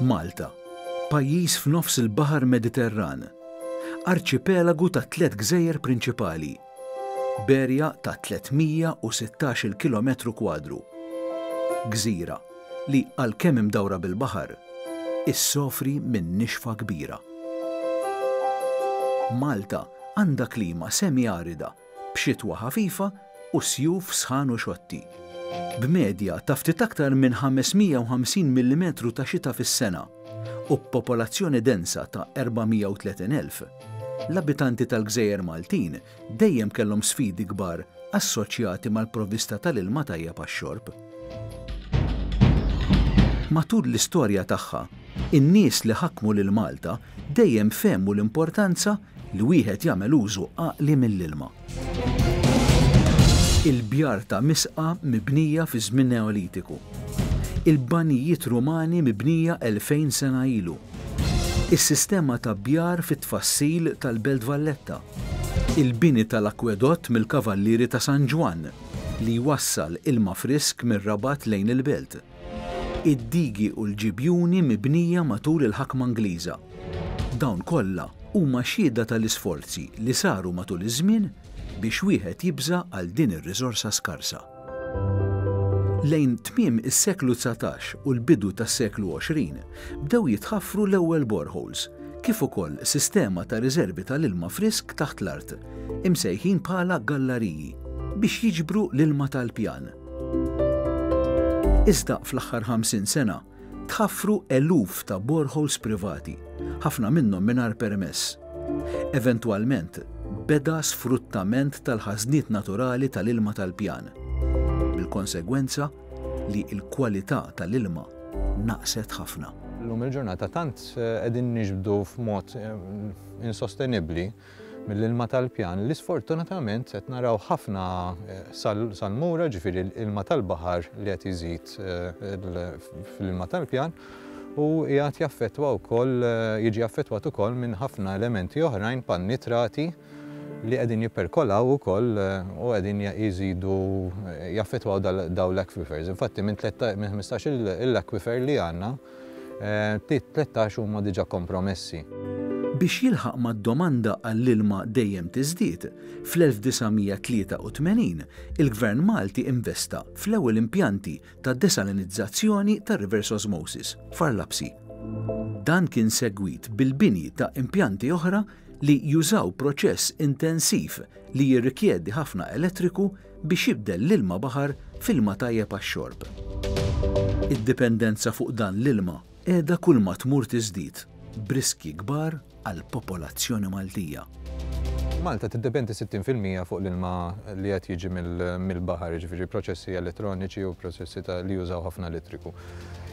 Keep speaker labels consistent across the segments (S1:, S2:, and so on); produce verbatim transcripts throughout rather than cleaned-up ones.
S1: Malta, pajjiż f'nofs il-Baħar Mediterran, arċipelagu ta' tliet gżejjer prinċipali, b'erja ta' tliet mija u sittax-il kilometru kwadru. Gżira li għalkemm imdawra bil-baħar, issofri minn nixfa kbira. Malta għandha klima semi-arida b'xitwa ħafifa u sjuf sħan u xotti. B'medja ta' ftit aktar minn ħames mija u ħamsin millimetru ta' xita fis-sena u b'popolazzjoni densa ta' erba' mija u tletin elf, l-abitanti tal-Gżejjer Maltin dejjem kellhom sfidi kbar assoċjati mal-provvista tal-ilma tajjeb għax-xorb. Matul l-istorja tagħha, in-nies li ħakmu lil Malta dejjem fehmu l-importanza li wieħed jagħmel użu għaqli mill-ilma. Il-bjar ta' misqa mibnija fi żmien Neolitiku. Il-banijiet Rumani mibnija elfejn sena ilu. Is-sistema ta' bjar fit-tfassil tal-Belt Valletta. Il-bini tal-akwedott mill-Kavallieri ta' San Ġwann li jwassal ilma frisk mir-Rabat lejn il-belt. Id-digi u l-ġibjuni mibnija matul il-ħakma Ingliża. Dawn kollha huma xhieda tal-isforzi li saru matul iż-żmien biex wieħed jibża' għal din ir-riżorsa skarsa. Lejn tmiem is-seklu dsatax u l-bidu tas-seklu għoxrin bdew jitħaffru l-ewwel boreholes, kif ukoll sistema ta' riservi tal-ilma frisk taħt l-art, imsejħin bħala gallariji, biex jiġbru l-ilma tal-pjan. Iżda fl-aħħar ħamsin sena tħaffru eluf ta' boreholes privati, ħafna minnhom mingħajr permess. Eventwalment, beda sfruttament tal-ħażniet naturali tal-ilma tal-pjan, bil-konsegwenza li l-kwalità tal-ilma naqset ħafna.
S2: Illum il-ġurnata tant, eh, qegħdin niġbdu f'mod, eh, insostenibbli mill-ilma tal-pjan li sfortunatament qed naraw ħafna, eh, sal-, salmura, ġifieri l-ilma tal-baħar li qed iżid, eh, il-, fl-ilma tal-pjan u qiegħed jaffettwa wkoll, eh, jiġi affettwat ukoll minn ħafna elementi oħrajn bħal nitrati li qegħdin jipperkolaw ukoll, eh, u qegħdin ja-, jżidu, eh, jaffettwaw dal-, dawn l-aquifers. Infatti minn tletta-, minn ħmistax il-, l-aquifer li għandna, eh, tlettax huma diġà kompromessi.
S1: Biex jilħaq mad-domanda għall-ilma dejjem tiżdied, fl-elf disa' mija tlieta u tmenin il-Gvern Malti investa fl-ewwel impjanti ta' desalinizzazzjoni ta' reverse osmosis f'Għar Lapsi. Dan kien segwit bil-bini ta' impjanti oħra li jużaw proċess intensiv li jirrikjedi ħafna elettriku biex jibdel l-ilma baħar f'ilma tajjeb għax-xorb. Id-dipendenza fuq dan l-ilma qiegħda kull ma tmur tiżdied b'riski kbar għall-popolazzjoni Maltija.
S2: Malta tiddependi sittin fil-mija fuq l-ilma li qed jiġi mill-, mill-baħar, jiġifieri proċessi elettroniċi u proċessi ta' li jużaw ħafna elettriku.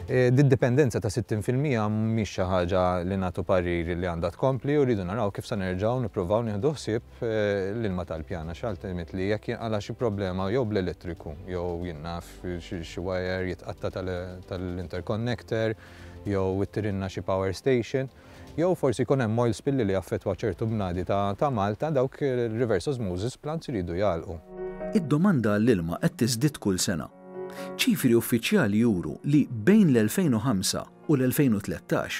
S2: E, Did-dipendenza ta' sittin fil-mija mhix xi ħaġa li nagħtu pariri li għandha tkompli u rridu naraw kif se nerġgħu nippruvaw nieħdu ħsieb, e, l-ilma tal-pjana, għax ultimately jekk jinqala xi problema jew bl-elettriku, jew jien naf xi, xi wire jitqatta tal-, tal-interconnector, jew ittirinna xi power station, jew forsi jkun hemm oil spill li jaffettwa ċertu bnadi ta', ta' Malta, dawk il-reverse osmosis plants iridu jagħlqu.
S1: Id-domanda għall-ilma qed tiżdied kull sena. Ċifri uffiċjali juru li bejn l-elfejn u ħamsa u l-elfejn u tlettax,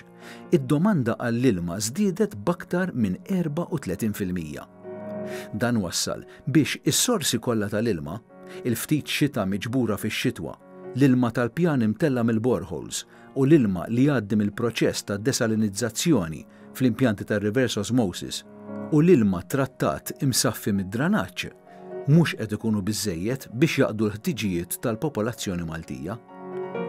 S1: id-domanda għall-ilma żdiedet b'aktar minn erba' u tletin fil-mija. Dan wassal biex is-sorsi kollha tal-ilma, il-ftit xita miġbura fix-xitwa, l-ilma tal-pjan imtella mill-boreholes u l-ilma li jgħaddi mill-proċess ta' desalinizzazzjoni fl-impjanti tar-reverse osmosis u l-ilma trattat imsaffi mid-dranaġġ mhux qed ikunu biżżejjed biex jaqdu l-ħtiġijiet tal-popolazzjoni Maltija.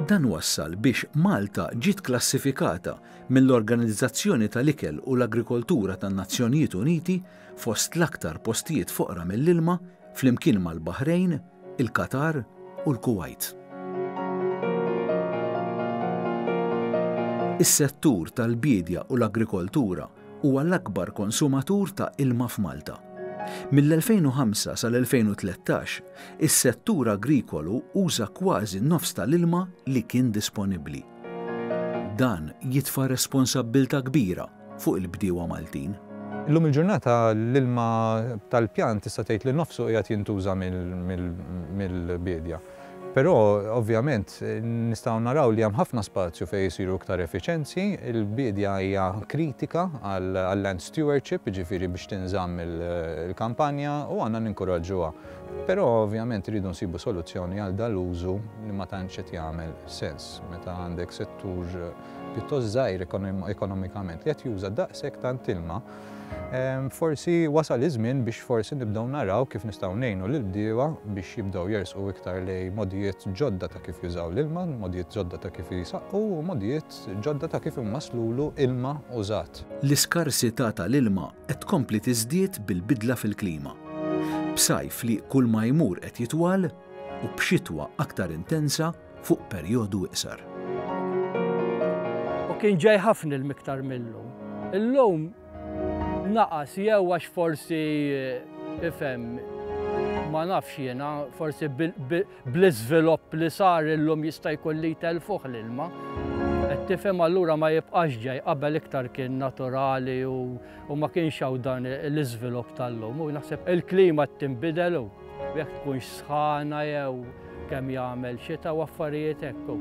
S1: Dan wassal biex Malta ġiet klassifikata mill-Organizzazzjoni tal-Ikel u l-Agrikoltura tan-Nazzjonijiet Uniti fost l-aktar postijiet foqra mill-ilma flimkien mal-Baħrejn, il-Qatar u l-Kuwait. Is-settur tal-biedja u l-agrikoltura huwa l-akbar konsumatur ta' ilma f'Malta. Mill-elfejn u ħamsa sal-elfejn u tlettax, is-settur agrikolu uża kważi nofs tal-ilma li kien disponibbli. Dan jitfa' responsabbiltà kbira fuq il-bdiewa Maltin.
S2: Illum il-ġurnata l-ilma tal-pjan tista' tgħid li nofsu qiegħed jintuża mill-, mill-, mill-biedja. Però ovvjament nistgħu naraw li hemm ħafna spazju fejn jsiru iktar effiċenzi. Il-bidja hija kritika għall-land stewardship, jiġifieri biex tinżamm il-kampanja, u għandna ninkoraġġuha. Però ovvjament rridu nsibu soluzzjoni għal dal-użu li ma tantx qed jagħmel sens meta għandek settur pjuttost żgħir ekonomikament li qed juża daqshekk tant ilma. Forsi wasal iż-żmien biex forsi nibdew naraw kif nistgħu ngħinu lill-bdiewa biex jibdew jersqu iktar lejn modijiet ġodda ta' kif jużaw l-ilma, modijiet ġodda ta' kif jisaqqu u modijiet ġodda ta' kif imasslulu ilma użat.
S1: L-iskarsità tal-ilma qed tkompli tiżdied bil-bidla fil-klima, b'sajf li kull ma jmur qed jitwal u b'xitwa aktar intensa fuq perjodu iqsar.
S3: U kien ġej ħafna l-miktar millu. Illum naqas, jew għax forsi, ifhem, ma nafx jiena, forsi bl-iżvilupp li sar illum jista' jkun li jtelfuh l-ilma. Qed tifhem, allura ma jibqax ġej. Qabel iktar kien naturali u, u ma kienx hawn dan l-iżvilupp tal-lum. U naħseb il-klima tinbidel u jekk tkunx sħana jew kemm jagħmel xita u affarijiet hekk.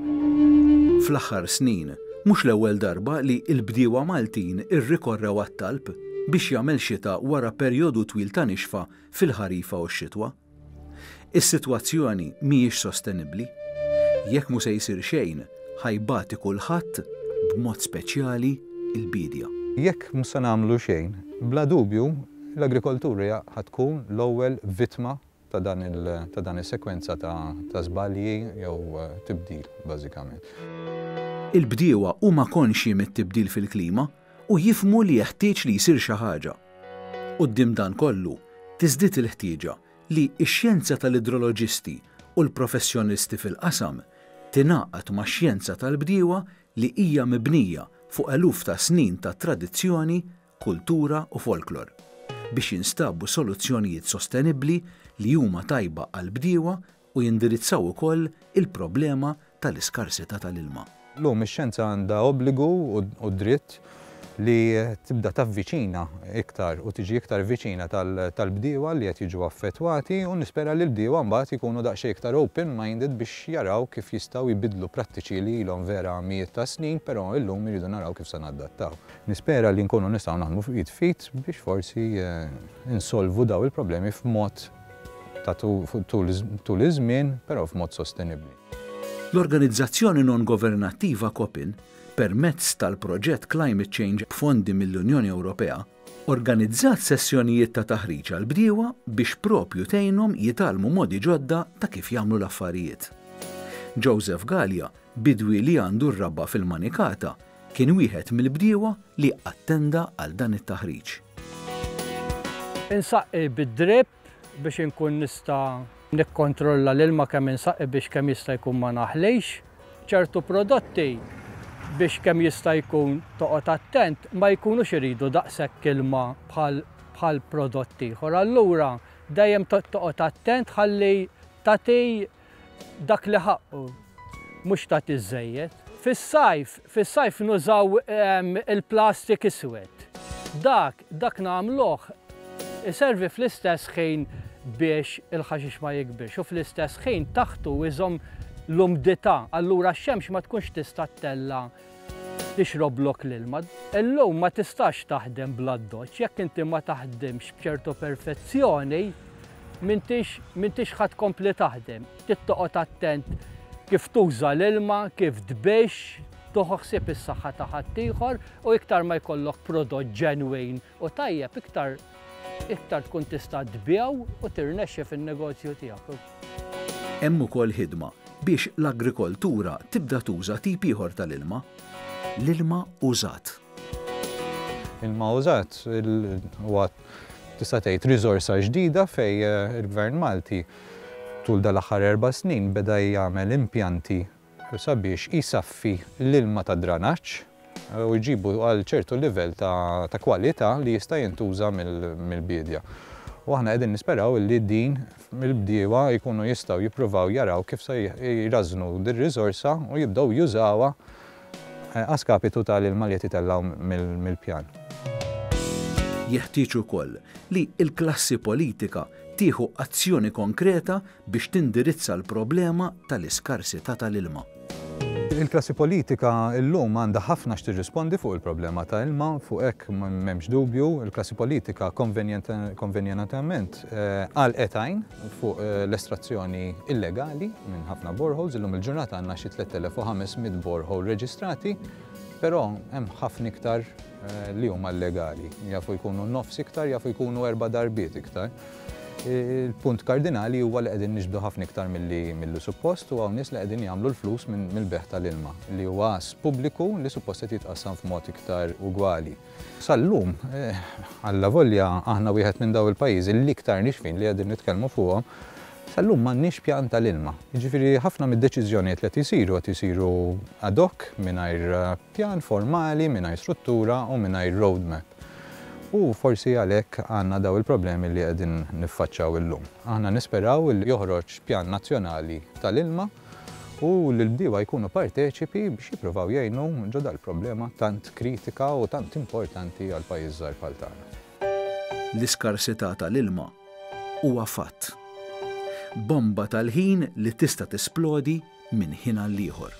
S1: Fl-aħħar snin, mhux l-ewwel darba li l-bdiewa Maltin irrikorrew għat-talb biex jagħmel xita wara perjodu twil ta' nixfa fil-ħarifa u x-xitwa. Is-sitwazzjoni mhijiex sostenibbli. Jekk mhu se jsir xejn, ħa jbati kulħadd, b'mod speċjali il-bidja.
S2: Jekk mhux se nagħmlu xejn, bla dubju l-agrikoltura ħa tkun l-ewwel vittma ta' dan il, ta' dan is-sekwenza ta', ta' żbalji jew eh, tibdil bażikament.
S1: Il-bdiewa huma konxji mit-tibdil fil-klima u jifhmu li jeħtieġ li jsir xi ħaġa. Quddiem dan kollu, tiżdied il-ħtieġa li x-xjenza tal-idroloġisti u l-professjonisti fil-qasam tingħaqad ma' xjenza tal-bdiewa li hija mibnija fuq eluf ta' snin ta' tradizzjoni, kultura u folklor biex jinstabu soluzzjonijiet sostenibbli li huma tajba għal-bdiewa u jindirizzaw ukoll il-problema tal-iskarsità tal-ilma.
S2: Llum ix-xjenza għandha obbligu u dritt li tibda tavviċina iktar u tiġi iktar viċina tal-bdiewa li qed jiġu affettwati, u nispera li l-bdiewa mbagħad ikunu daqsxejn iktar open-minded biex jaraw kif jistgħu jbidlu prattiċi li ilhom vera mijiet ta' snin, però illum iridu naraw kif se nadattaw. Nispera li nkunu nistgħu naħdmu id f'id biex forsi eh, insolvu daw il-problemi f'mod ta' tul iż-żmien, però f'mod sostenibbli.
S1: L-organizzazzjoni non-governattiva COPIN, permezz tal-proġett Climate Change b'fondi mill-Unjoni Ewropea, organizzat sessjonijiet ta' taħriġ għal bdiewa biex propju tgħinhom jitgħallmu modi ġodda ta' kif jagħmlu l-affarijiet. Joseph Gallia, bidwi li għandu r-raba fil-Manikata, kien wieħed mill-bdiewa li attenda għal dan it-taħriġ.
S3: Insaqqi bid-drip biex inkun nista' nikkontrolla l-ilma kemm insaqqi biex kemm jista' jkun ma naħlejx. Ċertu prodotti, biex kemm jista' jkun toqgħod attent, ma jkunux iridu daqshekk ilma bħal bħal prodott ieħor. Allura dejjem toqgħod attent ħalli tagħti dak li ħaqqu, mhux tagħti żejjed. Fis-sajf, fis-sajf nużaw ehm, il-plastik iswed. Dak, dak nagħmluh iservi fl-istess ħin biex il-ħaxix ma jikbirx u fl-istess ħin taħtu iżomm l-umdità, allura x-xemx ma tkunx tista' ttella' tixroblok l-ilma. Illum ma tistax taħdem bl-addoċċ, jekk inti ma taħdimx b'ċertu perfezzjoni, m'intix m'intix ħa tkompli taħdem. Trid toqgħod attent kif tuża l-ilma, kif tbix, tieħu ħsieb is-saħħa ta' ħaddieħor, u iktar ma jkollok prodott ġenwin u tajjeb, iktar iktar tkun tista' tbigħu u tirnexxi fin-negozju tiegħek.
S1: Hemm ukoll ħidma biex l-agrikoltura tibda tuża tip ieħor tal-ilma, l-ilma użat.
S2: Ilma użat huwa, tista' tgħid, riżorsa ġdida fej eh, il-Gvern Malti tul dal-aħħar erba' snin beda jagħmel impjanti sabiex jisaffi l-ilma ta' dranaġġ u jġibu għal ċertu livell ta', ta kwalità li jista' jintuża mill-bidja. U aħna qegħdin nisperaw li din il-bdiewa jkunu jistgħu jippruvaw jaraw kif se jrażnu dir-riżorsa u jibdew jużawha eh, a skapitu tal-ilma li qed jitellgħu mill-pjan.
S1: Jeħtieġ ukoll li l-klassi politika Tieħu azzjoni konkreta biex tindirizza l-problema tal-iskarsità tal-ilma.
S2: Il-klassi politika llum għandha ħafna x'tirrispondi fuq il-problema ta' ilma, fuq hekk m'hemmx dubju. Il-klassi politika konvenjentament għalqet għajn fuq l-estrazzjoni illegali minn ħafna boreholes. Illum il-ġurnata għandna xi tliet elef u ħames mitt borehole reġistrati, però hemm ħafna iktar li huma illegali. Jafu jkunu nofs iktar, jafu jkunu erba' darbiet iktar. Il-punt kardinali huwa li qegħdin niġbdu ħafna iktar milli, milli suppost u hawn nies li qegħdin jagħmlu l-flus mill-beħ tal-ilma li huwa as pubbliku li suppost qed jitqassam f'mod iktar ugwali. Sal-lum, eh, alla volja aħna wieħed minn daw il-pajjiżi li iktar nixfin li qegħdin nitkellmu fuqhom, sal-lum m'għandniex pjan tal-ilma. Jiġifieri ħafna mid-deċiżjonijiet li qed isiru qed isiru ad hoc mingħajr pjan formali, mingħajr struttura u mingħajr roadmap. U forsi għalhekk għandna daw il-problemi li qegħdin niffaċċaw illum. Aħna nisperaw li joħroġ pjan nazzjonali tal-ilma u li l-bdiewa jkunu parteċipi biex jippruvaw jgħinu ġo dal-problema tant kritika u tant importanti għal pajjiż żgħar bħal tagħna.
S1: L-iskarsità tal-ilma huwa fatt. Bomba tal-ħin li tista' tisplodi minn ħin għal ieħor.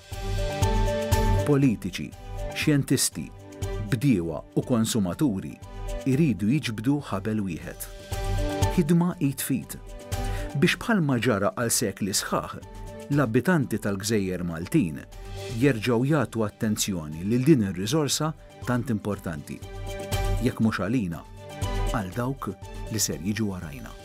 S1: Politiċi, xjentisti, bdiewa u konsumaturi iridu jiġbdu ħabel wieħed. Ħidma id f'id. Biex bħalma ġara għal sekli sħaħ, l-abitanti tal-Gżejjer Maltin jerġgħu jagħtu attenzjoni lil din ir-riżorsa tant importanti. Jekk mhux għalina, għal dawk li ser jiġu warajna.